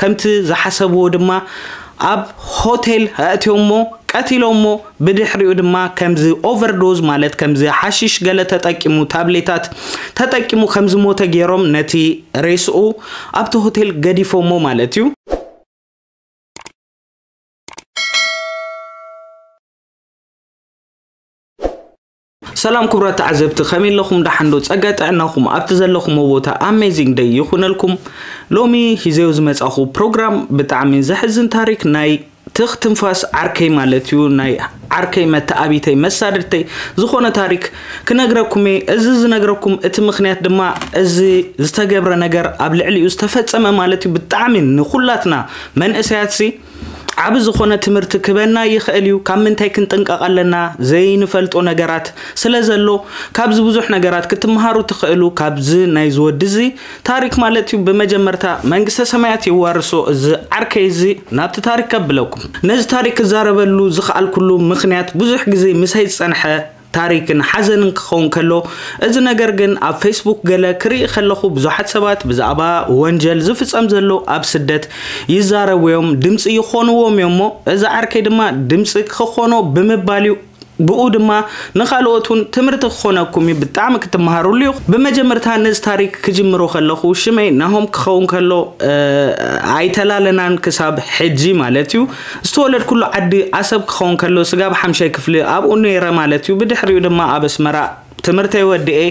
ከምቲ ዝሓሰብዎ ድማ ኣብ ሆቴል ኣእትዮሞ ቀቲሎሞ። ብድሕሪኡ ድማ ከምዚ ኦቨርዶዝ ማለት ከምዚ ሓሽሽ ገለ ተጠቂሙ፣ ታብሌታት ተጠቂሙ ከም ዝሞተ ገይሮም ነቲ ሬስኡ ኣብቲ ሆቴል ገዲፎሞ ማለት እዩ። ሰላም ክቡራት ተዓዘብቲ፣ ከመይ ኣለኹም? ደሓን ዶ? ጸጋ ጥዕናኹም ኣብቲ ዘለኹምዎ ቦታ ኣሜዚንግ ደይ ይኹነልኩም። ሎሚ ሂዘዮ ዝመጻኹ ፕሮግራም ብጣዕሚ ዘሕዝን ታሪክ ናይ ትኽ ትንፋስ ዓርከይ ማለት እዩ፣ ናይ ዓርከይ መተኣቢተይ መሳድድተይ ዝኾነ ታሪክ ክነግረኩም እየ። እዚ ዝነግረኩም እቲ ምኽንያት ድማ እዚ ዝተገብረ ነገር ኣብ ልዕሊኡ ዝተፈጸመ ማለት እዩ ብጣዕሚ ንኹላትና መንእሰያትሲ ዓቢ ዝኾነ ትምህርቲ ክበና ይኽእል እዩ። ካብ ምንታይ ክንጥንቀቕ ኣለና? ዘይንፈልጦ ነገራት ስለ ዘሎ ካብዚ ብዙሕ ነገራት ክትመሃሩ ትኽእሉ። ካብዚ ናይ ዝወዲ እዚ ታሪክ ማለት እዩ። ብመጀመርታ መንግስተ ሰማያት የዋርሶ እዚ ዓርከይ እዚ። ናብቲ ታሪክ ከብለኩም፣ ነዚ ታሪክ ክዛረበሉ ዝኸኣልኩሉ ምኽንያት ብዙሕ ግዜ ምሳይ ዝጸንሐ ታሪክን ሓዘንን ክኸውን ከሎ፣ እዚ ነገር ግን ኣብ ፌስቡክ ገለ ክርኢ ከለኹ ብዙሓት ሰባት ብዛዕባ ወንጀል ዝፍጸም ዘሎ ኣብ ስደት ይዛረቡ እዮም፣ ድምፂ ይኾንዎም እዮም እሞ እዚ ዓርከይ ድማ ድምፂ ክኾኖ ብምባል እዩ። ብኡ ድማ ንኻልኦት እውን ትምህርቲ ክኾነኩም እዩ፣ ብጣዕሚ ክትመሃሩሉ እዩ። ብመጀመርታ ነዚ ታሪክ ክጅምሮ ከለኹ ሽመይ ናሆም ክኸውን ከሎ ኣይተላለናን ክሳብ ሕጂ ማለት እዩ። ዝተወለድኩሉ ዓዲ ዓሰብ ክኸውን ከሎ ስጋብ ሓምሻይ ክፍሊ ኣብኡ ነይረ ማለት እዩ። ብድሕሪኡ ድማ ኣብ ኣስመራ ትምህርተይ ወዲኤ።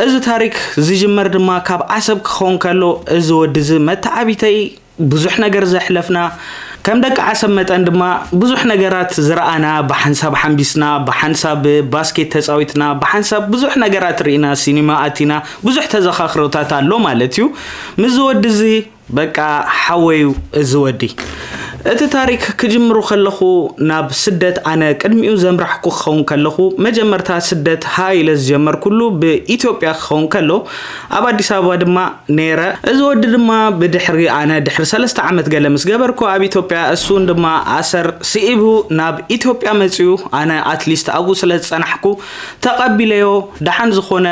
እዚ ታሪክ ዝጅመር ድማ ካብ ዓሰብ ክኸውን ከሎ እዚ ወዲ እዚ መተዓቢተይ ብዙሕ ነገር ዘሕለፍና ከም ደቂ ዓሰብ መጠን ድማ ብዙሕ ነገራት ዝረኣና፣ ብሓንሳብ ሓምቢስና፣ ብሓንሳብ ባስኬት ተፃዊትና፣ ብሓንሳብ ብዙሕ ነገራት ርኢና፣ ሲኒማ ኣቲና፣ ብዙሕ ተዘኻኽሮታት ኣሎ ማለት እዩ። ምስ ወዲ እዚ በቃ ሓወዩ እዚ ወዲ። እቲ ታሪክ ክጅምሩ ከለኹ ናብ ስደት ኣነ ቅድሚኡ ዘምራሕኩ ክኸውን ከለኹ መጀመርታ ስደት ሃ ኢለ ዝጀመርኩሉ ብኢትዮጵያ ክኸውን ከሎ ኣብ ኣዲስ ኣበባ ድማ ነይረ። እዚ ወዲ ድማ ብድሕሪ ኣነ ድሕሪ ሰለስተ ዓመት ገለ ምስ ገበርኩ ኣብ ኢትዮጵያ እሱን ድማ ኣሰር ስኢቡ ናብ ኢትዮጵያ መፅዩ ኣነ ኣትሊስት ኣብኡ ስለ ዝፀናሕኩ ተቐቢለዮ። ደሓን ዝኾነ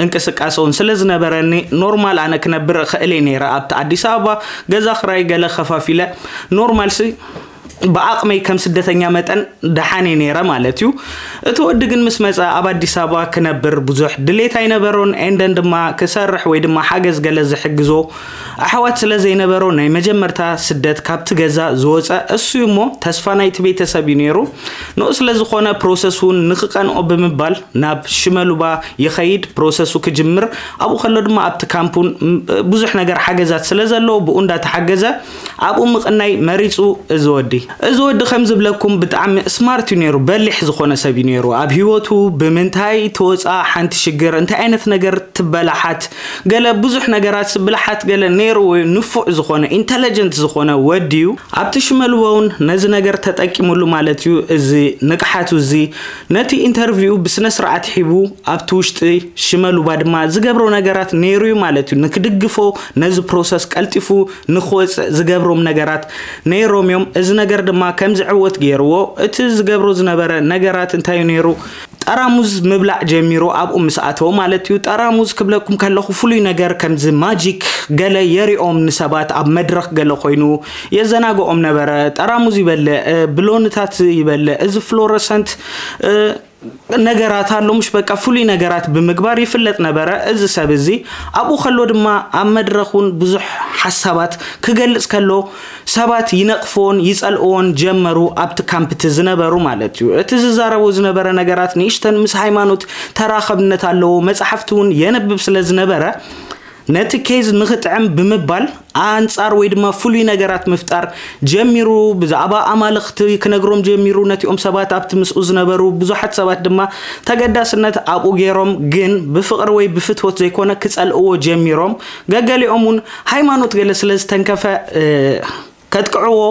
እንቅስቃሰ እውን ስለ ዝነበረኒ ኖርማል ኣነ ክነብር እኽእል እየ ነይረ ኣብቲ ኣዲስ ኣበባ ገዛ ክራይ ገለ ከፋፊለ ኖርማል ሲ ብኣቕመይ ከም ስደተኛ መጠን ደሓን እየ ነይረ ማለት እዩ። እቲ ወዲ ግን ምስ መፀ ኣብ ኣዲስ ኣበባ ክነብር ብዙሕ ድሌት ኣይነበሮን ኤንደን ድማ ክሰርሕ ወይ ድማ ሓገዝ ገለ ዝሕግዞ ኣሕዋት ስለ ዘይነበሮ ናይ መጀመርታ ስደት ካብቲ ገዛ ዝወፀ እሱ እዩ እሞ ተስፋ ናይቲ ቤተሰብ እዩ ነይሩ። ንኡ ስለ ዝኾነ ፕሮሰስ እውን ንክቀንኦ ብምባል ናብ ሽመሉባ ይኸይድ ፕሮሰሱ ክጅምር። ኣብኡ ከሎ ድማ ኣብቲ ካምፕ እውን ብዙሕ ነገር ሓገዛት ስለ ዘለዎ ብኡ እንዳተሓገዘ ኣብኡ ምቕናይ መሪፁ። እዚ ወዲ እዚ ወዲ ከም ዝብለኩም ብጣዕሚ ስማርት እዩ ነይሩ፣ በሊሕ ዝኾነ ሰብ እዩ ነይሩ። ኣብ ሂወቱ ብምንታይ ተወፃ ሓንቲ ሽግር እንታይ ዓይነት ነገር ትበላሓት ገለ ብዙሕ ነገራት ብልሓት ገለ ነይሩ ወይ ንፉዕ ዝኾነ ኢንተለጀንት ዝኾነ ወዲ እዩ። ኣብቲ ሽመልቦ እውን ነዚ ነገር ተጠቂሙሉ ማለት እዩ። እዚ ንቅሓቱ እዚ ነቲ ኢንተርቪው ብስነ ስርዓት ሒቡ ኣብቲ ውሽጢ ሽመሉባ ድማ ዝገብሮ ነገራት ነይሩ እዩ ማለት እዩ። ንክድግፎ ነዚ ፕሮሰስ ቀልጢፉ ንክወፅእ ዝገብሮም ነገራት ነይሮም እዮም። እዚ ነገር ድማ ከም ዝዕወት ገይርዎ። እቲ ዝገብሮ ዝነበረ ነገራት እንታይ እዩ ነይሩ? ጠራሙዝ ምብላዕ ጀሚሩ ኣብኡ ምስ ኣተወ ማለት እዩ። ጠራሙዝ ክብለኩም ከለኹ ፍሉይ ነገር ከምዚ ማጂክ ገለ የሪኦም ንሰባት ኣብ መድረኽ ገለ ኮይኑ የዘናግኦም ነበረ። ጠራሙዝ ይበልዕ፣ ብሎንታት ይበልዕ፣ እዚ ፍሎረሰንት ነገራት ኣሎ ምሽ በቃ ፍሉይ ነገራት ብምግባር ይፍለጥ ነበረ። እዚ ሰብ እዚ ኣብኡ ከሎ ድማ ኣብ መድረኽ እውን ብዙሕ ሓሳባት ክገልጽ ከሎ ሰባት ይነቕፍዎን ይጸልእዎን ጀመሩ፣ ኣብቲ ካምፕ እቲ ዝነበሩ ማለት እዩ። እቲ ዝዛረቦ ዝነበረ ነገራት ንእሽተን ምስ ሃይማኖት ተራኸብነት ኣለዎ። መጻሕፍቲ እውን የንብብ ስለ ዝነበረ ነቲ ኬዝ ንኽጥዕም ብምባል ኣንጻር ወይ ድማ ፍሉይ ነገራት ምፍጣር ጀሚሩ። ብዛዕባ ኣማልኽቲ ክነግሮም ጀሚሩ። ነቲኦም ሰባት ኣብቲ ምስኡ ዝነበሩ ብዙሓት ሰባት ድማ ተገዳስነት ኣብኡ ገይሮም፣ ግን ብፍቕሪ ወይ ብፍትወት ዘይኮነ ክጸልእዎ ጀሚሮም። ገገሊኦም እውን ሃይማኖት ገለ ስለ ዝተንከፈ ከጥቅዕዎ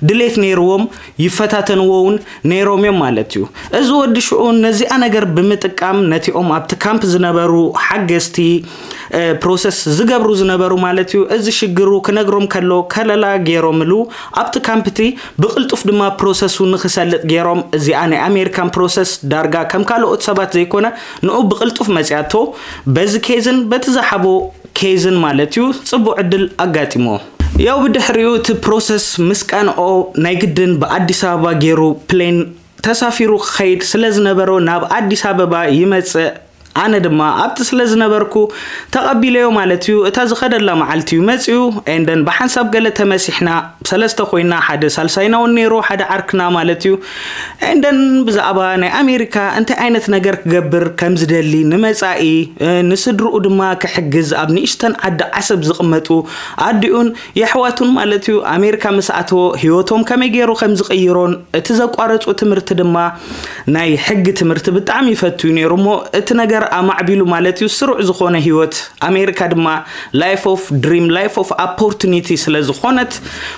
ድሌት ነይርዎም፣ ይፈታተንዎ እውን ነይሮም እዮም ማለት እዩ። እዚ ወዲ ሽዑ ነዚኣ ነገር ብምጥቃም ነቲኦም ኣብቲ ካምፕ ዝነበሩ ሓገዝቲ ፕሮሰስ ዝገብሩ ዝነበሩ ማለት እዩ። እዚ ሽግሩ ክነግሮም ከሎ ከለላ ገይሮምሉ ኣብቲ ካምፕ እቲ ብቕልጡፍ ድማ ፕሮሰሱ ንክሰልጥ ገይሮም። እዚኣ ናይ ኣሜሪካን ፕሮሰስ ዳርጋ ከም ካልኦት ሰባት ዘይኮነ ንኡ ብቕልጡፍ መፅያቶ በዚ ኬዝን በቲ ዝሓቦ ኬዝን ማለት እዩ ጽቡቕ ዕድል ኣጋጢሞ። ያው ብድሕሪኡ እቲ ፕሮሰስ ምስ ቀንኦ ናይ ግድን ብኣዲስ ኣበባ ገይሩ ፕሌን ተሳፊሩ ክኸይድ ስለ ዝነበሮ ናብ ኣዲስ ኣበባ ይመጽእ። ኣነ ድማ ኣብቲ ስለ ዝነበርኩ ተቐቢለዮ ማለት እዩ። እታ ዝኸደላ መዓልቲ እዩ መጺኡ። ኤንደን ብሓንሳብ ገለ ተመሲሕና ሰለስተ ኮይና፣ ሓደ ሳልሳይና እውን ነይሩ፣ ሓደ ዓርክና ማለት እዩ። ኤንደን ብዛዕባ ናይ ኣሜሪካ እንታይ ዓይነት ነገር ክገብር ከም ዝደሊ ንመጻኢ፣ እ፣ ንስድርኡ ድማ ክሕግዝ ኣብ ንእሽተን ዓዲ ዓሰብ ዝቕመጡ ኣዲኡን የሕዋቱን ማለት እዩ ኣሜሪካ ምስ ኣተወ ህይወቶም ከመይ ገይሩ ከም ዝቕይሮን እቲ ዘቋረጹ ትምህርቲ ድማ ናይ ሕጊ ትምህርቲ ብጣዕሚ ይፈቱ እዩ ነይሩ እሞ እቲ ነገር ኣማዕቢሉ ማለት እዩ ስሩዕ ዝኾነ ህይወት ኣሜሪካ ድማ life of dream, life of opportunity ስለ ዝኾነት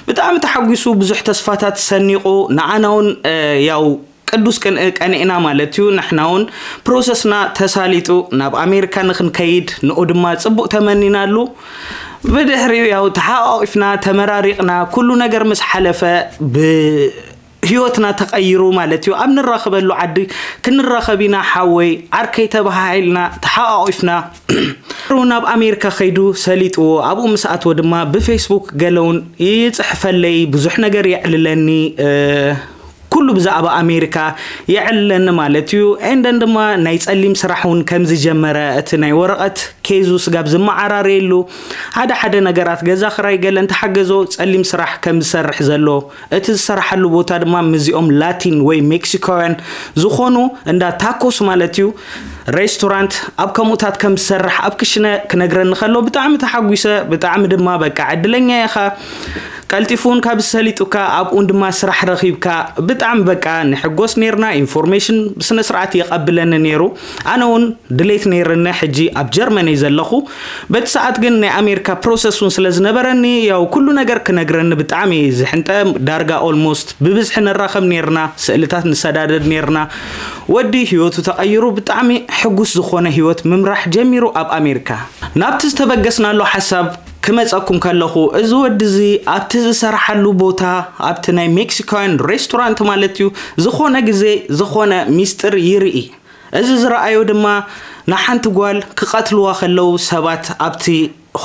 ብጣዕሚ ተሓጒሱ ብዙሕ ተስፋታት ሰኒቑ ንዓና እውን እ፣ ያው ቅዱስ ቅን- ቀኒእና ማለት እዩ። ንሕና እውን ፕሮሰስና ተሳሊጡ ናብ ኣሜሪካ ንክንከይድ ንኡ ድማ ጽቡቕ ተመኒናሉ። ብድሕሪኡ ያው ተሓቋቂፍና ተመራሪቕና ኩሉ ነገር ምስ ሓለፈ ብ ህይወትና ተቐይሩ ማለት እዩ። ኣብ ንራኸበሉ ዓዲ ክንራኸብ ኢና ሓወይ ዓርከይ ተባሃሂልና ተሓቋቂፍና ናብ ኣሜሪካ ከይዱ ሰሊጥዎ ኣብኡ ምስ ኣትወ ድማ ብፌስቡክ ገለውን ይፅሕፈለይ ብዙሕ ነገር የዕልለኒ እ፣ ኩሉ ብዛዕባ ኣሜሪካ የዕልለኒ ማለት እዩ። ኤንደን ድማ ናይ ጸሊም ስራሕ እውን ከም ዝጀመረ እቲ ናይ ወረቐት ኬዙ ስጋብ ዝመዓራረየሉ ሓደ ሓደ ነገራት ገዛ ክራይ ገለ እንተሓገዞ ጸሊም ስራሕ ከም ዝሰርሕ ዘሎ እቲ ዝሰራሓሉ ቦታ ድማ ምስዚኦም ላቲን ወይ ሜክሲኮውያን ዝኾኑ እንዳ ታኮስ ማለት እዩ ሬስቶራንት ኣብ ከምኡታት ከም ዝሰርሕ ኣብ ክሽነ ክነግረኒ ከሎ ብጣዕሚ ተሓጒሰ። ብጣዕሚ ድማ በቃ ዕድለኛ ኢኻ። ቀልጢፉን ካብ ዝሰሊጡካ ኣብኡን ድማ ስራሕ ረኺብካ ብጣዕሚ በቃ ንሕጎስ ነርና። ኢንፎርሜሽን ብስነ ስርዓት የቐብለኒ ነይሩ። ኣነ እውን ድሌት ነይርኒ። ሕጂ ኣብ ጀርመን እየ ዘለኹ። በቲ ሰዓት ግን ናይ ኣሜሪካ ፕሮሰስ እውን ስለ ዝነበረኒ ያው ኩሉ ነገር ክነግረኒ ብጣዕሚ እየ ዝሕንጠ። ዳርጋ ኦልሞስት ብብዝሒ ንራኸብ ነርና፣ ስእልታት ንሰዳደድ ነርና። ወዲ ህይወቱ ተቐይሩ ብጣዕሚ ሕጉስ ዝኾነ ህይወት ምምራሕ ጀሚሩ ኣብ ኣሜሪካ። ናብቲ ዝተበገስናሉ ሓሳብ ክመፀኩም ከለኹ እዚ ወዲ እዚ ኣብቲ ዝሰርሓሉ ቦታ ኣብቲ ናይ ሜክሲካውያን ሬስቶራንት ማለት እዩ ዝኾነ ግዜ ዝኾነ ሚስጥር ይርኢ። እዚ ዝረኣዮ ድማ ንሓንቲ ጓል ክቐትልዋ ከለዉ ሰባት ኣብቲ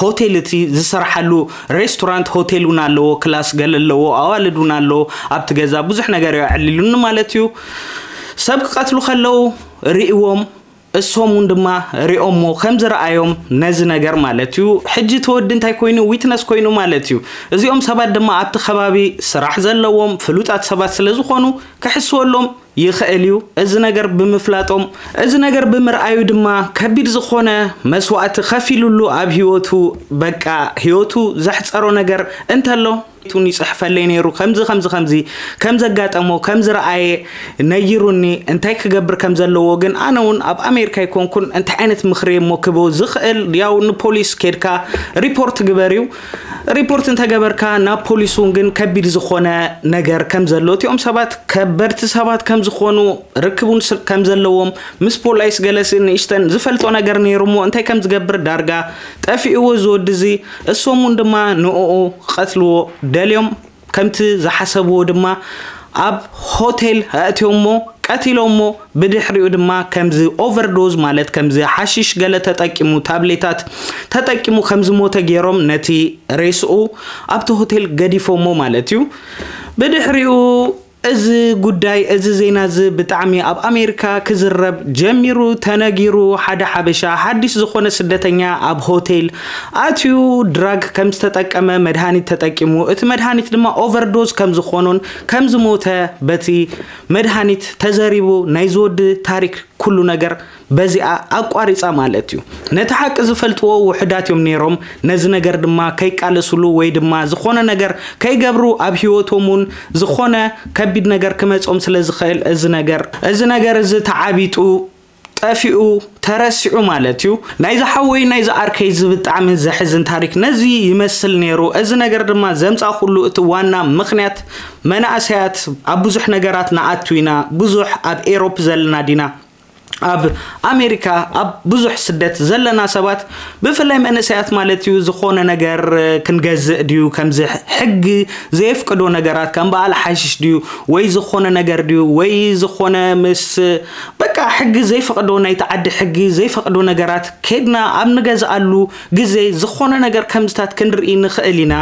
ሆቴል እቲ ዝሰርሓሉ ሬስቶራንት ሆቴል እውን ኣለዎ፣ ክላስ ገለ ኣለዎ፣ ኣዋልድ እውን ኣለዎ ኣብቲ ገዛ። ብዙሕ ነገር እዩ ኣዕሊሉኒ ማለት እዩ። ሰብ ክቐትሉ ከለዉ ርእዎም እሶም እውን ድማ ሪኦሞ ከም ዝረኣዮም ነዚ ነገር ማለት እዩ። ሕጂ እቲ ወዲ እንታይ ኮይኑ ዊትነስ ኮይኑ ማለት እዩ። እዚኦም ሰባት ድማ ኣብቲ ከባቢ ስራሕ ዘለዎም ፍሉጣት ሰባት ስለ ዝኾኑ ክሕስወሎም ይኽእል እዩ። እዚ ነገር ብምፍላጦም እዚ ነገር ብምርኣዩ ድማ ከቢድ ዝኾነ መስዋእቲ ከፊሉሉ ኣብ ህይወቱ በቃ ህይወቱ ዘሕፀሮ ነገር እንተሎ ቱን ይፅሕፈለይ ነይሩ ከምዚ ከምዚ ከምዚ ከም ዘጋጠሞ ከም ዝረኣየ ነይሩኒ እንታይ ክገብር ከም ዘለዎ ግን ኣነ እውን ኣብ ኣሜሪካ ይኮንኩን እንታይ ዓይነት ምኽሪ እሞ ክቦ ዝኽእል ያው ንፖሊስ ኬድካ ሪፖርት ግበር እዩ። ሪፖርት እንተገበርካ ናብ ፖሊስ እውን ግን ከቢድ ዝኾነ ነገር ከም ዘሎ እቲኦም ሰባት ከበድቲ ሰባት ከም ዝኾኑ ርክቡን ስል ከም ዘለዎም ምስ ፖላይስ ገለሲ ንእሽተን ዝፈልጦ ነገር ነይሩ እሞ እንታይ ከም ዝገብር ዳርጋ ጠፊእዎ ዝወዲ እዚ እሶም እውን ድማ ንእኡ ክቐትልዎ ደልዮም ከምቲ ዝሓሰብዎ ድማ ኣብ ሆቴል ኣእትዮሞ ቀቲሎሞ ብድሕሪኡ ድማ ከምዚ ኦቨርዶዝ ማለት ከምዚ ሓሽሽ ገለ ተጠቂሙ ታብሌታት ተጠቂሙ ከም ዝሞተ ገይሮም ነቲ ሬስኡ ኣብቲ ሆቴል ገዲፎሞ ማለት እዩ። ብድሕሪኡ እዚ ጉዳይ እዚ ዜና እዚ ብጣዕሚ ኣብ ኣሜሪካ ክዝረብ ጀሚሩ ተነጊሩ ሓደ ሓበሻ ሓዲሽ ዝኾነ ስደተኛ ኣብ ሆቴል ኣትዩ ድራግ ከም ዝተጠቀመ መድሃኒት ተጠቂሙ እቲ መድሃኒት ድማ ኦቨርዶዝ ከም ዝኾኑን ከም ዝሞተ በቲ መድሃኒት ተዘሪቡ ናይ ዝወዲ ታሪክ ኩሉ ነገር በዚኣ ኣቋሪጻ ማለት እዩ። ነቲ ሓቂ ዝፈልጥዎ ውሑዳት እዮም ነይሮም። ነዚ ነገር ድማ ከይቃለስሉ ወይ ድማ ዝኾነ ነገር ከይገብሩ ኣብ ህይወቶም እውን ዝኾነ ከቢድ ነገር ክመጾም ስለ ዝኽእል እዚ ነገር እዚ ነገር እዚ ተዓቢጡ ጠፊኡ ተረሲዑ ማለት እዩ። ናይዚ ሓወይ ናይዚ ዓርከይ እዚ ብጣዕሚ ዘሕዝን ታሪክ ነዚ ይመስል ነይሩ። እዚ ነገር ድማ ዘምጻእኩሉ እቲ ዋና ምኽንያት መናእሰያት ኣብ ብዙሕ ነገራት ንኣቱ ኢና፣ ብዙሕ ኣብ ኤሮፕ ዘለና ዲና ኣብ ኣሜሪካ ኣብ ብዙሕ ስደት ዘለና ሰባት ብፍላይ መንእሰያት ማለት እዩ ዝኾነ ነገር ክንገዝእ ድዩ ከምዚ ሕጊ ዘየፍቅዶ ነገራት ከም በዓል ሓሽሽ ድዩ ወይ ዝኾነ ነገር ድዩ ወይ ዝኾነ ምስ በቃ ሕጊ ዘይፈቅዶ ናይቲ ዓዲ ሕጊ ዘይፈቅዶ ነገራት ከድና ኣብ ንገዝኣሉ ግዜ ዝኾነ ነገር ከምዝታት ክንርኢ ንኽእል ኢና።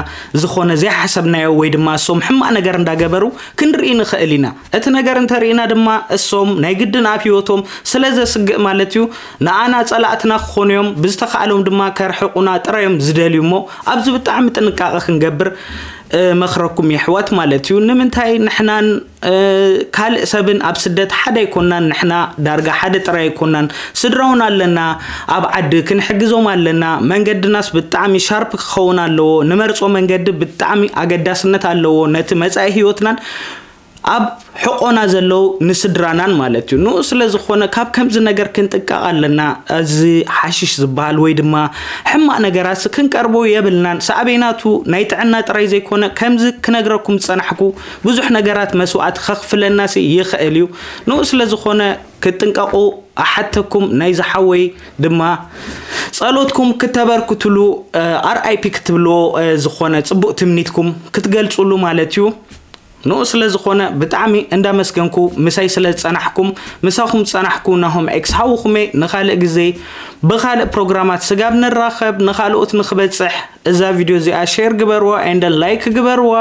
ዝኾነ ዘይሓሰብናዮ ወይ ድማ እሶም ሕማቅ ነገር እንዳገበሩ ክንርኢ ንኽእል ኢና። እቲ ነገር እንተርኢና ድማ እሶም ናይ ግድን ኣብ ህይወቶም ስለ ዘስግእ ማለት እዩ ንኣና ጸላእትና ክኾኑ እዮም። ብዝተኻእሎም ድማ ከርሕቁና ጥራዮም ዝደልዩ እሞ ኣብዚ ብጣዕሚ ጥንቃቐ ክንገብር መኽረኩም የሕዋት ማለት እዩ። ንምንታይ ንሕናን ካልእ ሰብን ኣብ ስደት ሓደ ኣይኮናን። ንሕና ዳርጋ ሓደ ጥራይ ኣይኮናን። ስድራውን ኣለና ኣብ ዓዲ ክንሕግዞም ኣለና። መንገድናስ ብጣዕሚ ሻርፕ ክኸውን ኣለዎ። ንመርጾ መንገዲ ብጣዕሚ ኣገዳስነት ኣለዎ ነቲ መጻኢ ህይወትናን ኣብ ሕቆና ዘለዉ ንስድራናን ማለት እዩ። ንኡ ስለ ዝኾነ ካብ ከምዚ ነገር ክንጥንቀቕ ኣለና። እዚ ሓሽሽ ዝበሃል ወይ ድማ ሕማቕ ነገራት ክንቀርቦ የብልናን። ሳዕቤናቱ ናይ ጥዕና ጥራይ ዘይኮነ ከምዚ ክነግረኩም ዝጸናሕኩ ብዙሕ ነገራት መስዋዕቲ ከኽፍለናሲ ይኽእል እዩ። ንኡ ስለ ዝኾነ ክትጥንቀቑ ኣሓተኩም ናይ ዝሓወይ ድማ ጸሎትኩም ክተበርክትሉ ኣርኣይፒ ክትብልዎ ዝኾነ ጽቡቕ ትምኒትኩም ክትገልጹሉ ማለት እዩ። ንኡ ስለ ዝኾነ ብጣዕሚ እንዳመስገንኩ ምሳይ ስለ ዝጸናሕኩም ምሳኹም ዝጸናሕኩ ናሆም ኤክስ ሓውኹመይ ንኻልእ ግዜ ብኻልእ ፕሮግራማት ስጋብ ንራኸብ ንኻልኦት ንክበጽሕ እዛ ቪድዮ እዚኣ ሼር ግበርዋ and like ግበርዋ።